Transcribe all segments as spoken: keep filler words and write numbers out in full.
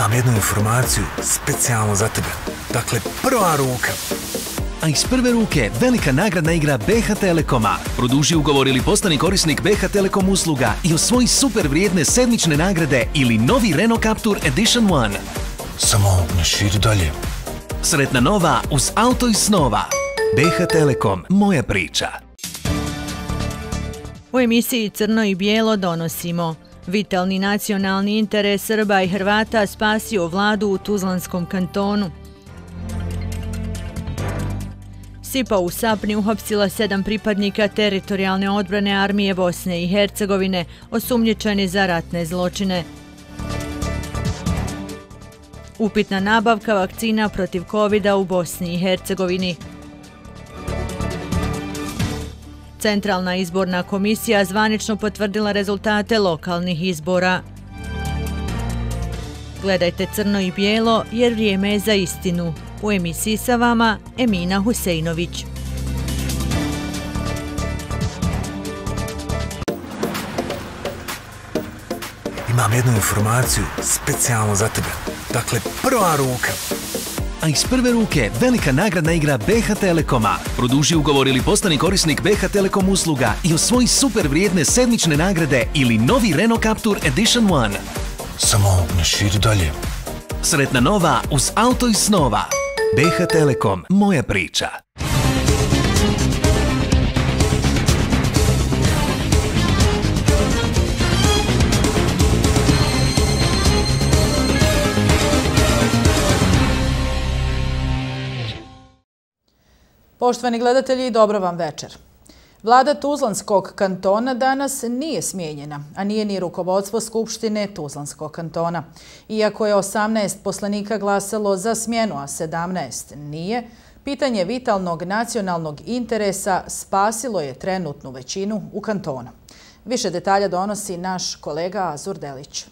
Imam jednu informaciju specijalno za tebe. Dakle, prva ruka. A iz prve ruke velika nagradna igra B H Telekoma. Produži ugovor ili postani korisnik B H Telekom usluga i osvoji super vrijedne sedmične nagrade ili novi Renault Captur Edition One. Samo ne širi dalje. Sretna nova uz auto iz snova. B H Telekom, moja priča. U emisiji Crno i bijelo donosimo: vitalni nacionalni interes Srba i Hrvata spasio vladu u Tuzlanskom kantonu. Sipa u Sapni uhapsila sedam pripadnika teritorijalne odbrane armije Bosne i Hercegovine, osumnjičeni za ratne zločine. Upitna nabavka vakcina protiv kovida u Bosni i Hercegovini. Centralna izborna komisija zvanično potvrdila rezultate lokalnih izbora. Gledajte Crno i bijelo jer vrijeme je za istinu. U emisiji sa vama Emina Huseinović. Imam jednu informaciju specijalno za tebe. Dakle, prva ruka. A iz prve ruke velika nagradna igra B H Telekoma. Produži ugovor ili postani korisnik B H Telekom usluga i osvoji super vrijedne sedmične nagrade ili novi Renault Captur Edition One. Samo ne širi dalje. Sretna nova uz auto iz snova. B H Telekom, moja priča. Poštovani gledatelji, dobro vam večer. Vlada Tuzlanskog kantona danas nije smijenjena, a nije ni rukovodstvo Skupštine Tuzlanskog kantona. Iako je osamnaest poslanika glasalo za smjenu, a sedamnaest nije, pitanje vitalnog nacionalnog interesa spasilo je trenutnu većinu u kantonu. Više detalja donosi naš kolega Azur Delić.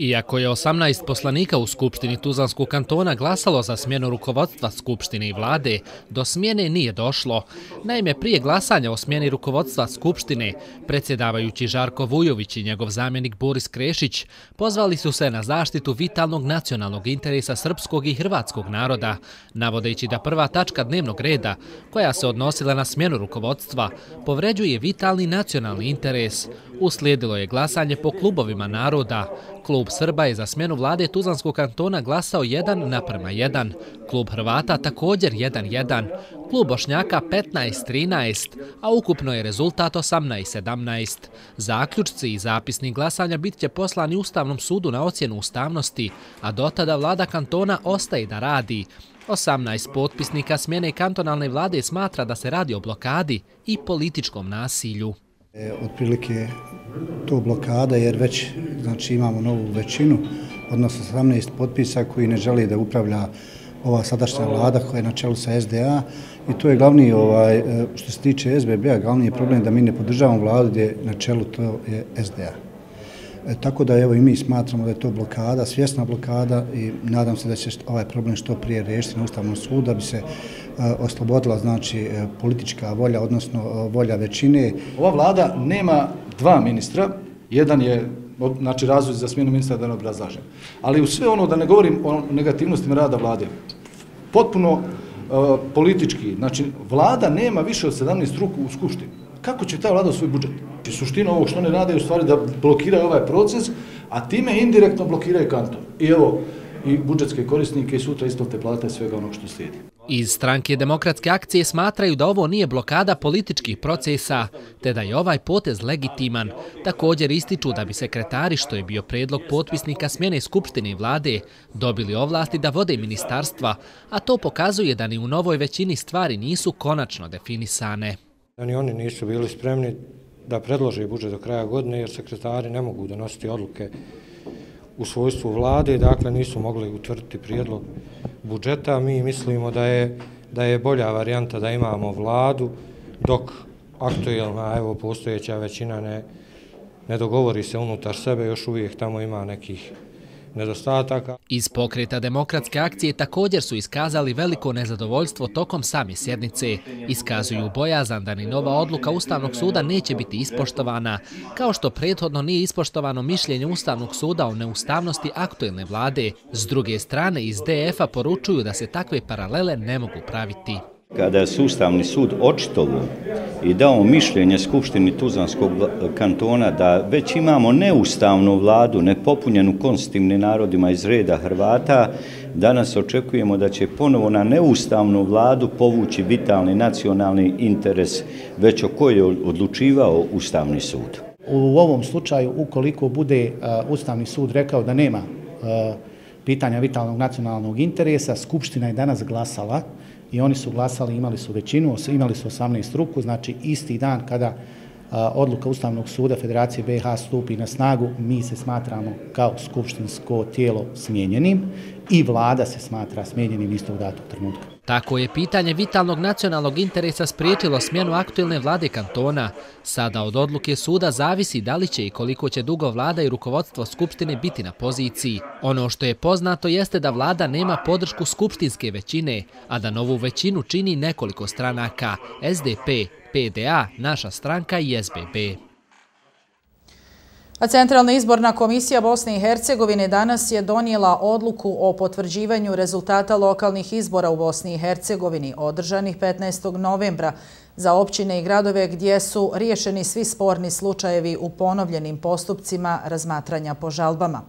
Iako je osamnaest poslanika u Skupštini Tuzlanskog kantona glasalo za smjenu rukovodstva Skupštine i vlade, do smjene nije došlo. Naime, prije glasanja o smjeni rukovodstva Skupštine, predsjedavajući Žarko Vujović i njegov zamjenik Boris Krešić pozvali su se na zaštitu vitalnog nacionalnog interesa srpskog i hrvatskog naroda, navodeći da prva tačka dnevnog reda, koja se odnosila na smjenu rukovodstva, povređuje vitalni nacionalni interes. Uslijedilo je glasanje po klubovima naroda. Klub Srba je za smjenu vlade Tuzlanskog kantona glasao jedan naprema jedan, klub Hrvata također jedan jedan, klub Bošnjaka petnaest trinaest, a ukupno je rezultat osamnaest sedamnaest. Zaključci i zapisni glasanja bit će poslani Ustavnom sudu na ocjenu ustavnosti, a dotada vlada kantona ostaje da radi. osamnaest potpisnika smjene kantonalne vlade smatra da se radi o blokadi i političkom nasilju. Otprilike to blokada jer već znači, imamo novu većinu, odnosno osamnaest potpisa koji ne žele da upravlja ova sadašnja vlada koja je na čelu sa S D A i to je glavni, ovaj, što se tiče S B B-a, glavni je problem da mi ne podržavamo vladu gdje na čelu to je S D A. E, tako da evo i mi smatramo da je to blokada, svjesna blokada i nadam se da će ovaj problem što prije riješiti na Ustavnom sudu da bi se oslobodila znači politička volja, odnosno volja većine. Ova vlada nema dva ministra, jedan je znači razlog za smjenu ministra da ne obrazlažem. Ali u sve ono, da ne govorim o negativnostima rada vlade, potpuno uh, politički, znači vlada nema više od sedamnaest ruku u Skupštini. Kako će ta vlada svoj budžet? Suština ovog što ne rade je u stvari da blokiraju ovaj proces, a time indirektno blokiraju kanton. I evo, i budžetske korisnike i sutra isplate plate i svega onog što slijedi. Iz stranke Demokratske akcije smatraju da ovo nije blokada političkih procesa, te da je ovaj potez legitiman. Također ističu da bi sekretari, što je bio predlog potpisnika smjene Skupštine i vlade, dobili ovlasti da vode ministarstva, a to pokazuje da ni u novoj većini stvari nisu konačno definisane. Ni oni nisu bili spremni da predlože budžet do kraja godine jer sekretari ne mogu donositi odluke u svojstvu vlade, dakle nisu mogli utvrditi prijedlog budžeta. Mi mislimo da je, da je bolja varijanta da imamo vladu dok aktuelna, evo, postojeća većina ne, ne dogovori se unutar sebe, još uvijek tamo ima nekih nedostataka. Iz Pokreta demokratske akcije također su iskazali veliko nezadovoljstvo tokom same sjednice. Iskazuju bojazan da ni nova odluka Ustavnog suda neće biti ispoštovana, kao što prethodno nije ispoštovano mišljenje Ustavnog suda o neustavnosti aktuelne vlade. S druge strane, iz D F-a poručuju da se takve paralele ne mogu praviti. Kada je Ustavni sud očitovao i dao mišljenje Skupštini Tuzlanskog kantona da već imamo neustavnu vladu, nepopunjenu konstitutivnim narodima iz reda Hrvata, danas očekujemo da će ponovo na neustavnu vladu povući vitalni nacionalni interes, već o kojoj je odlučivao Ustavni sud. U ovom slučaju, ukoliko bude Ustavni sud rekao da nema pitanja vitalnog nacionalnog interesa, Skupština je danas glasala i oni su glasali, imali su većinu, imali su osamnaest ruku, znači isti dan kada a, odluka Ustavnog suda Federacije B i H stupi na snagu, mi se smatramo kao skupštinsko tijelo smijenjenim i vlada se smatra smijenjenim istog datog trenutka. Tako je pitanje vitalnog nacionalnog interesa spriječilo smjenu aktuelne vlade kantona. Sada od odluke suda zavisi da li će i koliko će dugo vlada i rukovodstvo Skupštine biti na poziciji. Ono što je poznato jeste da vlada nema podršku skupštinske većine, a da novu većinu čini nekoliko stranaka: S D P, P D A, Naša stranka i S B B. A Centralna izborna komisija Bosne i Hercegovine danas je donijela odluku o potvrđivanju rezultata lokalnih izbora u Bosni i Hercegovini održanih petnaestog novembra za općine i gradove gdje su riješeni svi sporni slučajevi u ponovljenim postupcima razmatranja po žalbama.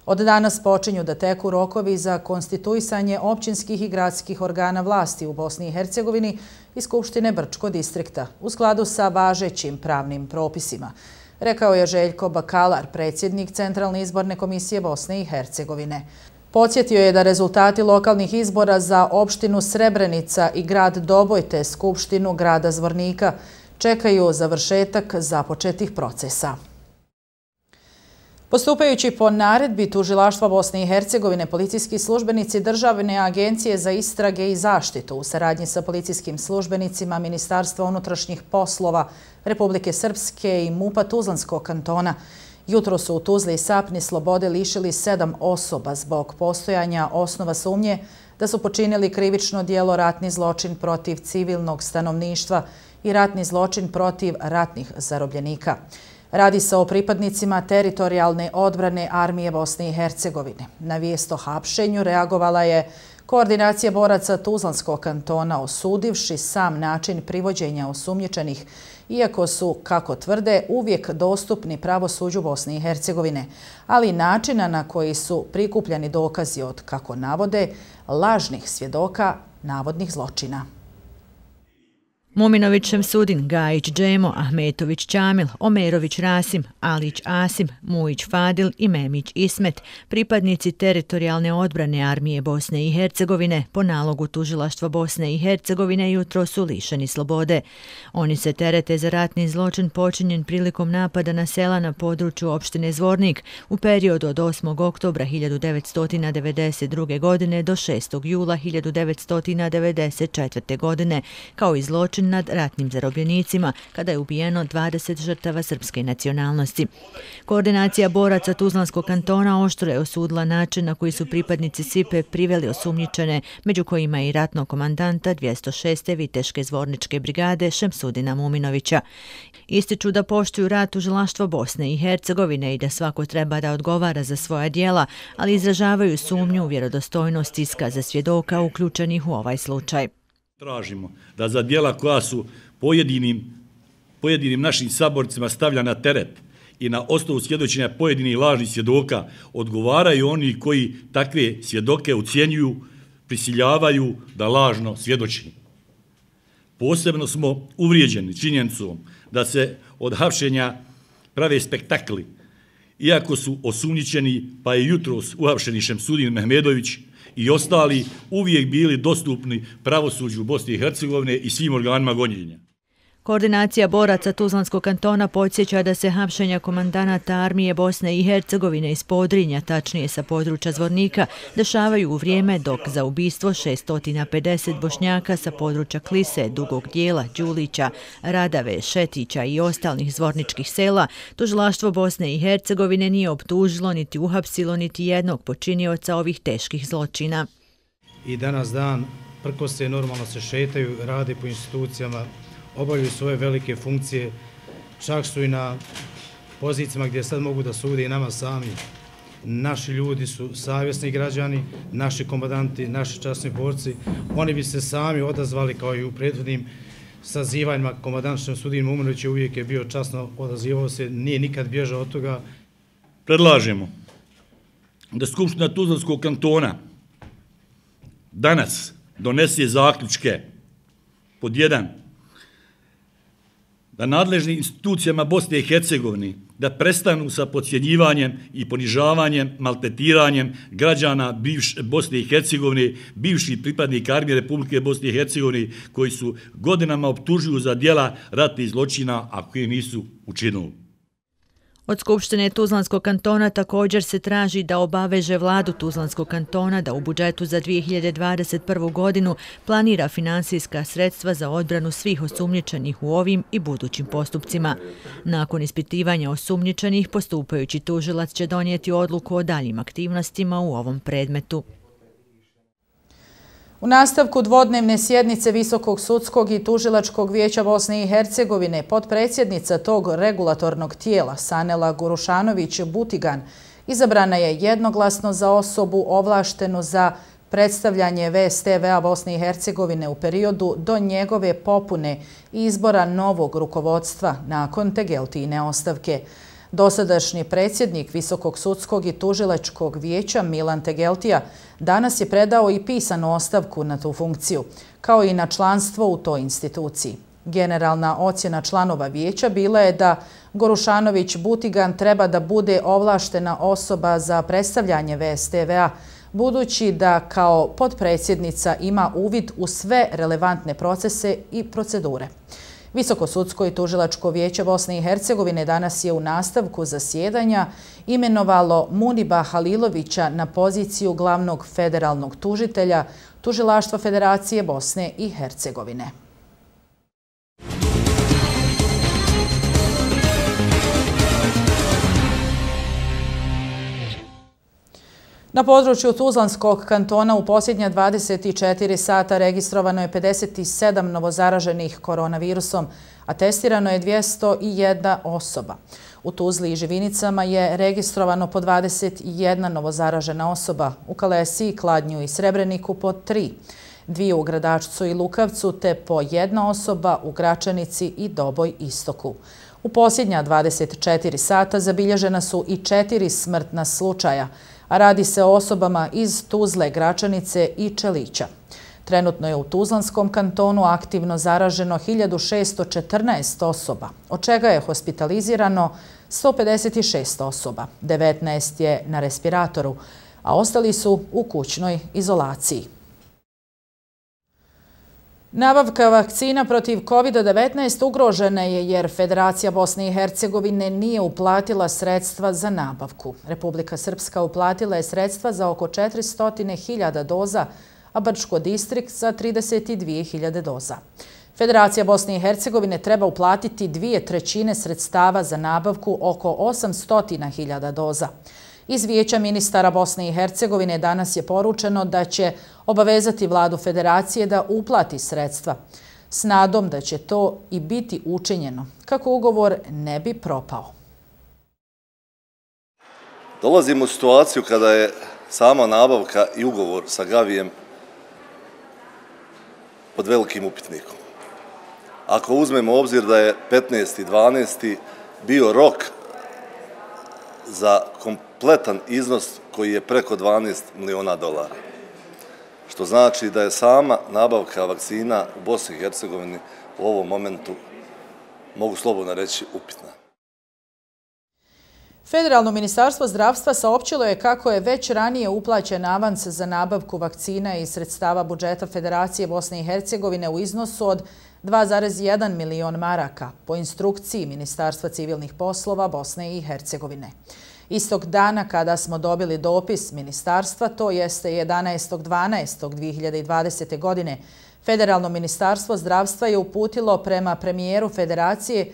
Od danas počinju da teku rokovi za konstituisanje općinskih i gradskih organa vlasti u Bosni i Hercegovini i Skupštine Brčko distrikta u skladu sa važećim pravnim propisima, rekao je Željko Bakalar, predsjednik Centralne izborne komisije Bosne i Hercegovine. Podsjetio je da rezultati lokalnih izbora za opštinu Srebrenica i grad Doboj te Skupštinu grada Zvornika čekaju završetak započetih procesa. Postupajući po naredbi Tužilaštva Bosne i Hercegovine, policijski službenici Državne agencije za istrage i zaštitu u saradnji sa policijskim službenicima Ministarstva unutrašnjih poslova Republike Srpske i MUP-a Tuzlanskog kantona jutro su u Tuzli i Sapni slobode lišili sedam osoba zbog postojanja osnova sumnje da su počinili krivično djelo ratni zločin protiv civilnog stanovništva i ratni zločin protiv ratnih zarobljenika. Radi se o pripadnicima teritorijalne odbrane Armije Bosne i Hercegovine. Na vijest o hapšenju reagovala je Koordinacija boraca Tuzlanskog kantona, osudivši sam način privođenja osumnjičenih, iako su, kako tvrde, uvijek dostupni pravosuđu Bosne i Hercegovine, ali načina na koji su prikupljani dokazi od, kako navode, lažnih svjedoka navodnih zločina. Muminović Šemsudin, Gajić Džemo, Ahmetović Ćamil, Omerović Rasim, Alić Asim, Mujić Fadil i Memić Ismet, pripadnici teritorijalne odbrane Armije Bosne i Hercegovine, po nalogu Tužilaštva Bosne i Hercegovine jutro su lišeni slobode. Oni se terete za ratni zločin počinjen prilikom napada na sela na području opštine Zvornik u periodu od osmog oktobra hiljadu devetsto devedeset druge. godine do šestog jula hiljadu devetsto devedeset četvrte. godine, kao i zločin nad ratnim zarobljenicima, kada je ubijeno dvadeset žrtava srpske nacionalnosti. Koordinacija boraca Tuzlanskog kantona oštro je osudila način na koji su pripadnici S I P-e priveli osumnjičene, među kojima i ratnog komandanta dvjesto šeste Viteške zvorničke brigade Šemsudina Muminovića. Ističu da poštuju rad Tužilaštva Bosne i Hercegovine i da svako treba da odgovara za svoja djela, ali izražavaju sumnju u vjerodostojnost iskaza svjedoka uključenih u ovaj slučaj. Tražimo da za djela koja su pojedinim, pojedinim našim saborcima stavlja na teret i na osnovu svjedočenja pojedinih lažnih svjedoka odgovaraju oni koji takve svjedoke ucjenjuju, prisiljavaju da lažno svjedoči. Posebno smo uvrijeđeni činjenicom da se od hapšenja prave spektakli, iako su osumnjičeni, pa je jutros uhapšeni Šemsudin Mehmedović i ostali uvijek bili dostupni pravosuđu Bosne i Hercegovine i svim organima gonjenja. Koordinacija boraca Tuzlanskog kantona podsjeća da se hapšenja komandanata armije Bosne i Hercegovine iz Podrinja, tačnije sa područja Zvornika, dešavaju u vrijeme dok za ubistvo šesto pedeset Bošnjaka sa područja Klise, Dugog dijela, Đulića, Radave, Šetića i ostalih zvorničkih sela, tužilaštvo Bosne i Hercegovine nije optužilo niti uhapsilo niti jednog počinioca ovih teških zločina. I danas dan prkose normalno se šetaju, rade po institucijama, obavljaju svoje velike funkcije, čak su i na pozicijama gdje sad mogu da sude i nama sami. Naši ljudi su savjesni građani, naši komandanti, naši časni borci. Oni bi se sami odazvali kao i u prethodnim sazivanjima. Komandant Šemsudin Muminović uvijek je bio časno, odazivao se, nije nikad bježao od toga. Predlažemo da Skupština Tuzlanskog kantona danas donese zaključke pod jedan, da nadležnim institucijama Bosne i Hercegovine da prestanu sa podcjenjivanjem i ponižavanjem, maltretiranjem građana Bosne i Hercegovine, bivših pripadnika armije Republike Bosne i Hercegovine koji su godinama optužuju za djela ratnih zločina, a koji nisu učinili. Od Skupštine Tuzlanskog kantona također se traži da obaveže vladu Tuzlanskog kantona da u budžetu za dvije hiljade dvadeset prvu. godinu planira finansijska sredstva za odbranu svih osumnjičenih u ovim i budućim postupcima. Nakon ispitivanja osumnjičenih, postupajući tužilac će donijeti odluku o daljim aktivnostima u ovom predmetu. U nastavku dvodnevne sjednice Visokog sudskog i tužilačkog vijeća Bosne i Hercegovine, potpredsjednica tog regulatornog tijela Sanela Gurušanović-Butigan izabrana je jednoglasno za osobu ovlaštenu za predstavljanje V S T V-a Bosne i Hercegovine u periodu do njegove popune i izbora novog rukovodstva nakon Tegeltine ostavke. Dosadašnji predsjednik Visokog sudskog i tužilačkog vijeća Milan Tegeltija danas je predao i pisanu ostavku na tu funkciju, kao i na članstvo u toj instituciji. Generalna ocjena članova vijeća bila je da Gorušanović-Butigan treba da bude ovlaštena osoba za predstavljanje V S T V-a, budući da kao potpredsjednica ima uvid u sve relevantne procese i procedure. Visokosudsko i tužilačko vijeće Bosne i Hercegovine danas je u nastavku zasjedanja imenovalo Muniba Halilovića na poziciju glavnog federalnog tužitelja Tužilaštva Federacije Bosne i Hercegovine. Na području Tuzlanskog kantona u posljednja dvadeset četiri sata registrovano je pedeset sedam novozaraženih koronavirusom, a testirano je dvjesto jedna osoba. U Tuzli i Živinicama je registrovano po dvadeset jedna novozaražena osoba, u Kalesiji, Kladnju i Srebreniku po tri, dvije u Gradačcu i Lukavcu te po jedna osoba u Gračanici i Doboj Istoku. U posljednja dvadeset četiri sata zabilježena su i četiri smrtna slučaja, a radi se o osobama iz Tuzle, Gračanice i Čelića. Trenutno je u Tuzlanskom kantonu aktivno zaraženo hiljadu šesto četrnaest osoba, od čega je hospitalizirano sto pedeset šest osoba, devetnaest je na respiratoru, a ostali su u kućnoj izolaciji. Nabavka vakcina protiv kovid devetnaest ugrožena je jer Federacija Bosne i Hercegovine nije uplatila sredstva za nabavku. Republika Srpska uplatila je sredstva za oko četiristo hiljada doza, a Brčko distrikt za trideset dvije hiljade doza. Federacija Bosne i Hercegovine treba uplatiti dvije trećine sredstava za nabavku oko osamsto hiljada doza. Iz Vijeća ministara Bosne i Hercegovine danas je poručeno da će obavezati vladu Federacije da uplati sredstva, s nadom da će to i biti učinjeno, kako ugovor ne bi propao. Dolazimo u situaciju kada je sama nabavka i ugovor sa Gavijem pod velikim upitnikom. Ako uzmemo obzir da je petnaesti dvanaesti bio rok za kompletan iznos koji je preko dvanaest miliona dolara. Što znači da je sama nabavka vakcina u Bosni i Hercegovini u ovom momentu, mogu slobodno reći, upitna. Federalno ministarstvo zdravstva saopćilo je kako je već ranije uplaćen avans za nabavku vakcina iz sredstava budžeta Federacije Bosne i Hercegovine u iznosu od dva zarez jedan milion maraka po instrukciji Ministarstva civilnih poslova Bosne i Hercegovine. Istog dana kada smo dobili dopis ministarstva, to jeste jedanaestog dvanaestog dve hiljade dvadesete. godine, Federalno ministarstvo zdravstva je uputilo prema premijeru Federacije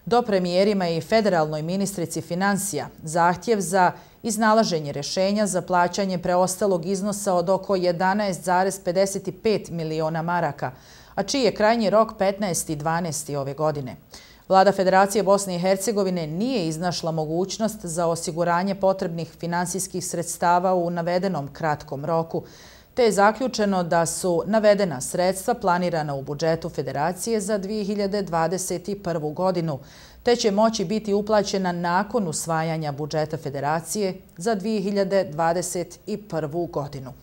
do premijerima i federalnoj ministrici financija zahtjev za iznalaženje rješenja za plaćanje preostalog iznosa od oko jedanaest zarez pedeset pet miliona maraka, a čiji je krajnji rok petnaesti dvanaesti ove godine. Vlada Federacije Bosne i Hercegovine nije iznašla mogućnost za osiguranje potrebnih finansijskih sredstava u navedenom kratkom roku, te je zaključeno da su navedena sredstva planirana u budžetu Federacije za dve hiljade dvadeset prvu. godinu, te će moći biti uplaćena nakon usvajanja budžeta Federacije za dve hiljade dvadeset prvu. godinu.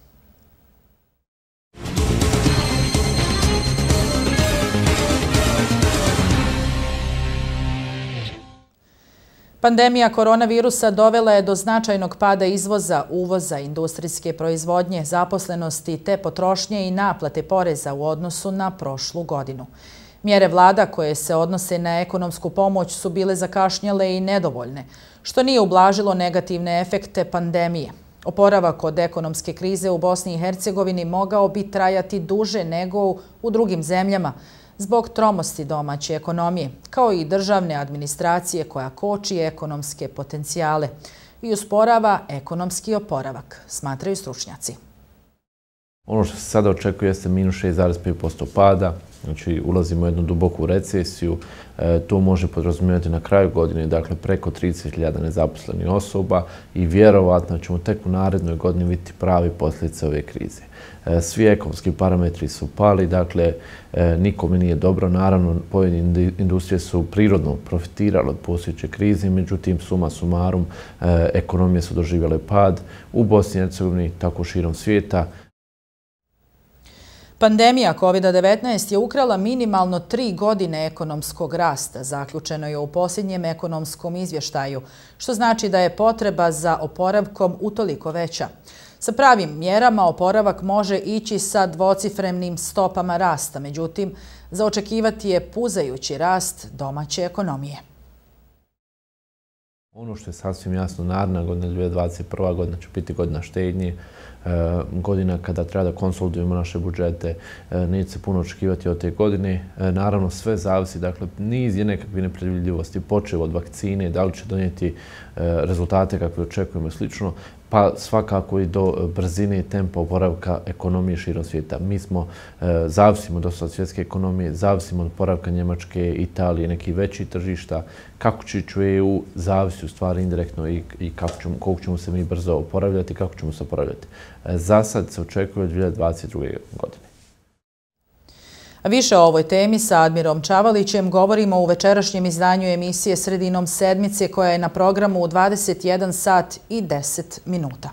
Pandemija koronavirusa dovela je do značajnog pada izvoza, uvoza, industrijske proizvodnje, zaposlenosti te potrošnje i naplate poreza u odnosu na prošlu godinu. Mjere vlada koje se odnose na ekonomsku pomoć su bile zakašnjele i nedovoljne, što nije ublažilo negativne efekte pandemije. Oporavak od ekonomske krize u Bosni i Hercegovini mogao bi trajati duže nego u drugim zemljama, zbog tromosti domaće ekonomije, kao i državne administracije koja koči ekonomske potencijale i usporava ekonomski oporavak, smatraju stručnjaci. Ono što se sada očekuje jeste minus šest zarez pet posto pada, znači ulazimo u jednu duboku recesiju, e, to može podrazumijevati na kraju godine, dakle preko trideset hiljada nezaposlenih osoba i vjerovatno ćemo tek u narednoj godini vidjeti pravi posljedice ove krize. E, svi ekonomski parametri su pali, dakle e, nikome nije dobro, naravno pojedine industrije su prirodno profitirale od postojeće krize, međutim suma sumarum e, ekonomije su doživjele pad u Bosni i Hercegovini, tako širom svijeta. Pandemija kovid devetnaest je ukrala minimalno tri godine ekonomskog rasta, zaključeno je u posljednjem ekonomskom izvještaju, što znači da je potreba za oporavkom utoliko veća. Sa pravim mjerama oporavak može ići sa dvocifrenim stopama rasta, međutim, za očekivati je puzajući rast domaće ekonomije. Ono što je sasvim jasno, naredna godina, dvije hiljade dvadeset prva. godina će biti godina štednje, godina kada treba da konsolidujemo naše budžete, neće se puno očekivati od te godine. Naravno, sve zavisi, dakle, niz je nekakve nepredvidljivosti, počev od vakcine, da li će donijeti rezultate kakve očekujemo i slično, pa svakako i do brzine i tempa oporavka ekonomije širom svijeta. Mi smo, zavisimo dosta od svjetske ekonomije, zavisimo od oporavka Njemačke, Italije, nekih većih tržišta. Kako će ići u E U, zavisi u stvari indirektno i, i kako ćemo, koliko ćemo se mi brzo oporavljati i kako ćemo se oporavljati. Za sad se očekuje od dvije hiljade dvadeset druge. godine. A više o ovoj temi sa Admirom Čavalićem govorimo u večerašnjem izdanju emisije Sredinom sedmice koja je na programu u dvadeset jedan sat i deset minuta.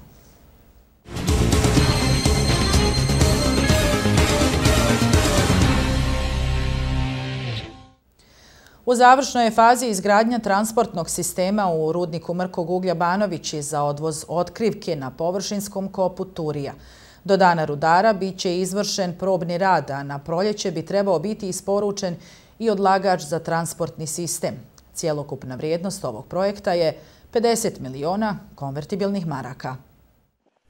U završnoj je fazi izgradnja transportnog sistema u rudniku mrkog uglja Banovići za odvoz otkrivke na površinskom kopu Turija. Do dana rudara bit će izvršen probni rad, a na proljeće bi trebao biti isporučen i odlagač za transportni sistem. Cijelokupna vrijednost ovog projekta je pedeset miliona konvertibilnih maraka.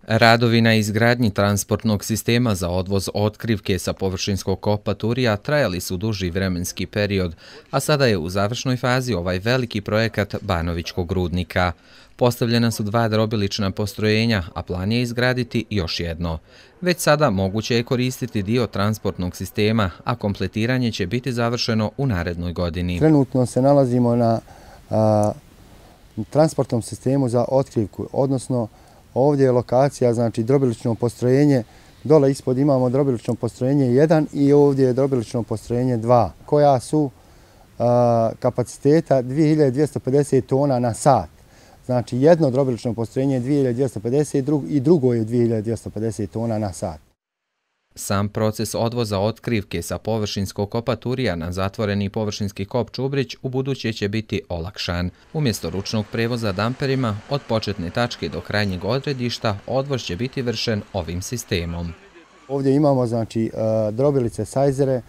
Radovi na izgradnji transportnog sistema za odvoz otkrivke sa površinskog kopa Turija trajali su duži vremenski period, a sada je u završnoj fazi ovaj veliki projekat Banovićkog rudnika. Postavljena su dva drobilična postrojenja, a plan je izgraditi još jedno. Već sada moguće je koristiti dio transportnog sistema, a kompletiranje će biti završeno u narednoj godini. Trenutno se nalazimo na a, transportnom sistemu za otkrivku, odnosno ovdje je lokacija, znači drobilično postrojenje, dole ispod imamo drobilično postrojenje jedan i ovdje je drobilično postrojenje dva, koja su a, kapaciteta dvije hiljade dvjesto pedeset tona na sat. Znači jedno drobilično postrojenje je dvije hiljade dvjesto pedeset i drugo je dvije hiljade dvjesto pedeset tona na sat. Sam proces odvoza otkrivke sa površinskog kopa Turija na zatvoreni površinski kop Čubrić u buduće će biti olakšan. Umjesto ručnog prevoza damperima, od početne tačke do krajnjeg odredišta, odvoz će biti vršen ovim sistemom. Ovdje imamo znači drobilice sajzere,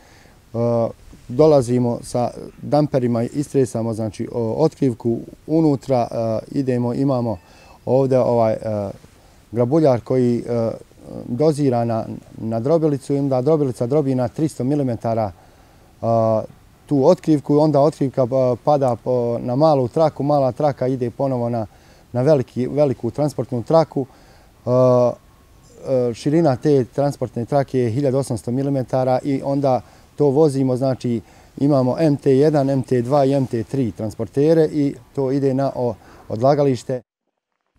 dolazimo sa damperima, istresamo znači otkrivku unutra, idemo, imamo ovdje ovaj grabuljar koji dozira na, na drobilicu i onda drobilica drobi na tristo milimetara tu otkrivku i onda otkrivka pada na malu traku, mala traka ide ponovo na, na veliki, veliku transportnu traku. Širina te transportne trake je hiljadu osamsto milimetara i onda to vozimo, znači imamo M T jedan, M T dva i M T tri transportere i to ide na odlagalište.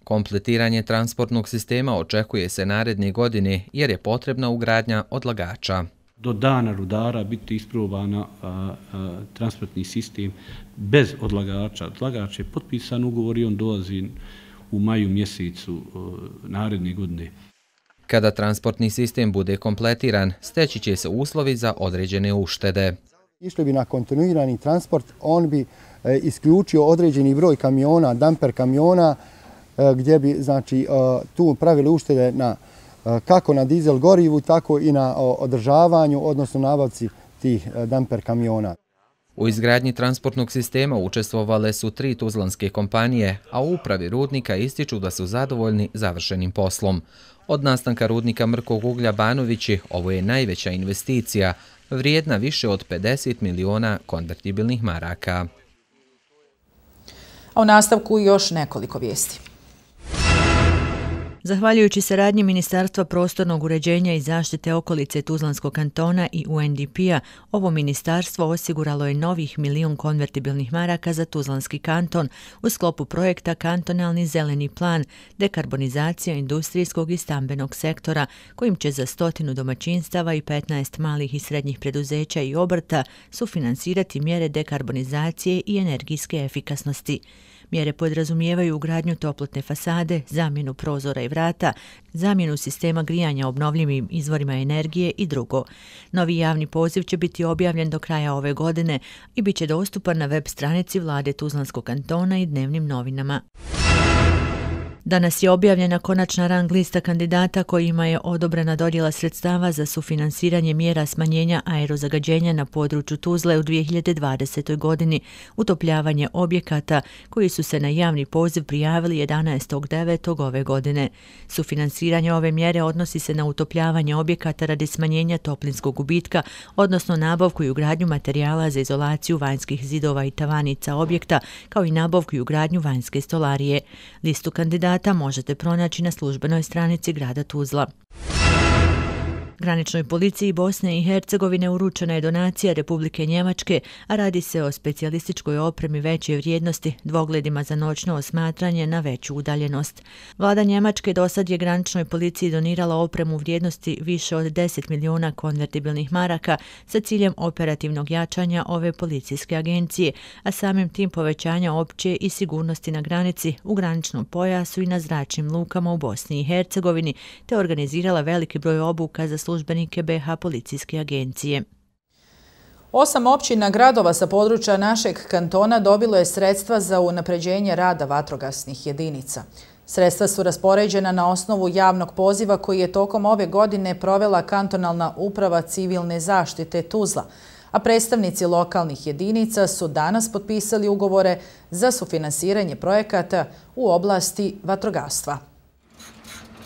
Kompletiranje transportnog sistema očekuje se naredne godine jer je potrebna ugradnja odlagača. Do dana rudara biti isprobana a, a, transportni sistem bez odlagača. Odlagač je potpisan ugovor i on dolazi u maju mjesecu a, naredne godine. Kada transportni sistem bude kompletiran, steći će se uslovi za određene uštede. Išli bi na kontinuirani transport, on bi e, isključio određeni broj kamiona, damper kamiona, e, gdje bi znači, e, tu pravili uštede na, e, kako na dizel gorivu, tako i na o, održavanju, odnosno nabavci tih e, damper kamiona. U izgradnji transportnog sistema učestvovale su tri tuzlanske kompanije, a u upravi rudnika ističu da su zadovoljni završenim poslom. Od nastanka rudnika mrkog uglja Banovići ovo je najveća investicija, vrijedna više od pedeset miliona konvertibilnih maraka. A u nastavku još nekoliko vijesti. Zahvaljujući saradnji Ministarstva prostornog uređenja i zaštite okolice Tuzlanskog kantona i U N D P-a, ovo ministarstvo osiguralo je novih milion konvertibilnih maraka za Tuzlanski kanton u sklopu projekta Kantonalni zeleni plan, dekarbonizacija industrijskog i stambenog sektora, kojim će za stotinu domaćinstava i petnaest malih i srednjih preduzeća i obrta sufinansirati mjere dekarbonizacije i energijske efikasnosti. Mjere podrazumijevaju ugradnju toplotne fasade, zamjenu prozora i vrata, zamjenu sistema grijanja obnovljivim izvorima energije i drugo. Novi javni poziv će biti objavljen do kraja ove godine i bit će dostupan na web stranici Vlade Tuzlanskog kantona i dnevnim novinama. Danas je objavljena konačna rang lista kandidata kojima je odobrena dodjela sredstava za sufinansiranje mjera smanjenja aerozagađenja na području Tuzle u dvije hiljade dvadesetoj godini, utopljavanje objekata koji su se na javni poziv prijavili jedanaestog devetog ove godine. Sufinansiranje ove mjere odnosi se na utopljavanje objekata radi smanjenja toplinskog gubitka, odnosno nabavku i ugradnju materijala za izolaciju vanjskih zidova i tavanica objekta, kao i nabavku i ugradnju vanjske stolarije. Listu kandidata možete pronaći na službenoj stranici grada Tuzla. Graničnoj policiji Bosne i Hercegovine uručena je donacija Republike Njemačke, a radi se o specijalističkoj opremi veće vrijednosti, dvogledima za noćno osmatranje na veću udaljenost. Vlada Njemačke dosad je graničnoj policiji donirala opremu vrijednosti više od deset miliona konvertibilnih maraka sa ciljem operativnog jačanja ove policijske agencije, a samim tim povećanja opće i sigurnosti na granici, u graničnom pojasu i na zračnim lukama u Bosni i Hercegovini, te organizirala veliki broj obuka za službenike B H policijske agencije. Osam općina gradova sa područja našeg kantona dobilo je sredstva za unapređenje rada vatrogasnih jedinica. Sredstva su raspoređena na osnovu javnog poziva koji je tokom ove godine provela kantonalna uprava civilne zaštite Tuzla, a predstavnici lokalnih jedinica su danas potpisali ugovore za sufinansiranje projekata u oblasti vatrogastva.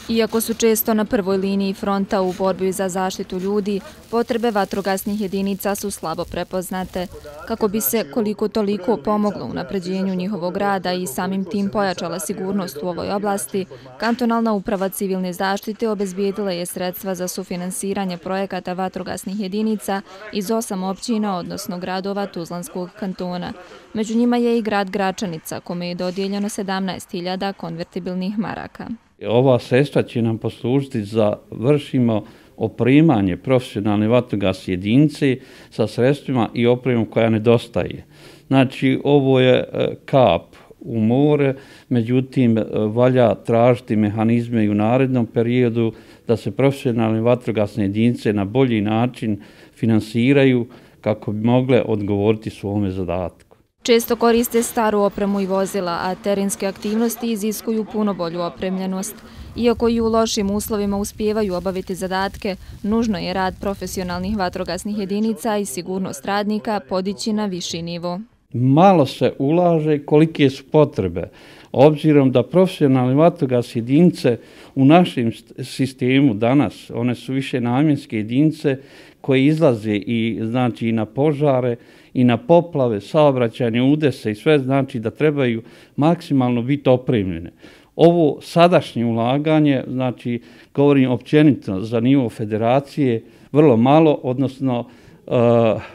Iako su često na prvoj liniji fronta u borbi za zaštitu ljudi, potrebe vatrogasnih jedinica su slabo prepoznate. Kako bi se koliko toliko pomoglo u napređenju njihovog rada i samim tim pojačala sigurnost u ovoj oblasti, kantonalna uprava civilne zaštite obezbijedila je sredstva za sufinansiranje projekata vatrogasnih jedinica iz osam općina, odnosno gradova Tuzlanskog kantona. Među njima je i grad Gračanica, kome je dodijeljeno sedamnaest hiljada konvertibilnih maraka. Ova sredstva će nam poslužiti za vršimo opremanje profesionalne vatrogasne jedinice sa sredstvima i opremom koja nedostaje. Znači, ovo je kap u more, međutim, valja tražiti mehanizme i u narednom periodu da se profesionalne vatrogasne jedinice na bolji način finansiraju kako bi mogle odgovoriti svome zadatku. Često koriste staru opremu i vozila, a terenske aktivnosti iziskuju puno bolju opremljenost. Iako i u lošim uslovima uspijevaju obaviti zadatke, nužno je rad profesionalnih vatrogasnih jedinica i sigurnost radnika podići na viši nivo. Malo se ulaže kolike su potrebe, obzirom da profesionalne vatrogasne jedinice u našem sistemu danas, one su više namjenske jedinice koje izlaze i znači i na požare i na poplave, saobraćajne udese i sve znači da trebaju maksimalno biti opremljene. Ovo sadašnje ulaganje, znači govorim općenito za nivo federacije, vrlo malo, odnosno uh,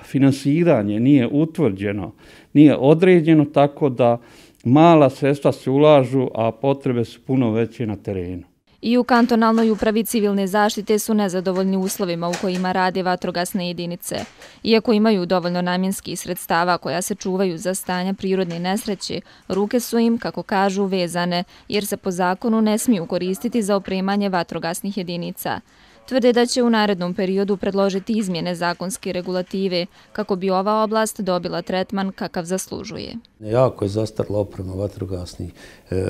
finansiranje nije utvrđeno, nije određeno, tako da mala sredstva se ulažu, a potrebe su puno veće na terenu. I u kantonalnoj upravi civilne zaštite su nezadovoljni uslovima u kojima rade vatrogasne jedinice. Iako imaju dovoljno namjenskih sredstava koja se čuvaju za stanja prirodne nesreće, ruke su im, kako kažu, vezane, jer se po zakonu ne smiju koristiti za opremanje vatrogasnih jedinica. Tvrde da će u narednom periodu predložiti izmjene zakonske regulative kako bi ova oblast dobila tretman kakav zaslužuje. Jako je zastarila oprema vatrogasnih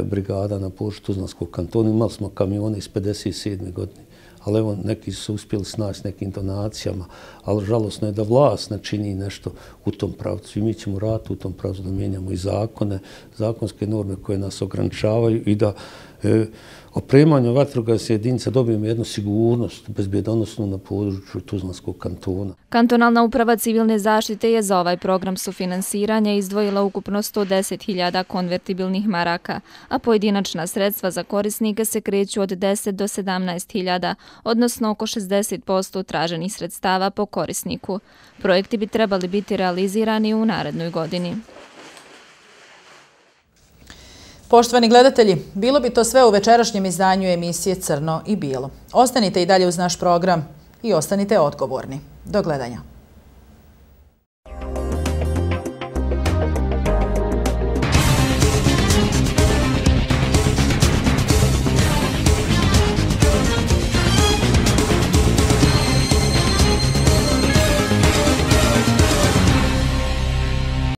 brigada na području Tuzlanskog kantona. Imali smo kamione iz pedeset sedme godine, ali evo neki su uspjeli snaći nekim donacijama, ali žalosno je da vlast ne čini nešto u tom pravcu i mi ćemo raditi u tom pravcu da mijenjamo i zakone, zakonske norme koje nas ograničavaju i da e, opremanju vatrogasne jedinice dobijemo jednu sigurnost, bezbjedonosnu na području Tuzlanskog kantona. Kantonalna uprava civilne zaštite je za ovaj program sufinansiranja izdvojila ukupno sto deset hiljada konvertibilnih maraka, a pojedinačna sredstva za korisnike se kreću od deset do sedamnaest hiljada, odnosno oko šezdeset posto traženih sredstava po korisniku. Projekti bi trebali biti realizirani u narednoj godini. Poštovani gledatelji, bilo bi to sve u večerašnjem izdanju emisije Crno i bijelo. Ostanite i dalje uz naš program i ostanite odgovorni. Do gledanja.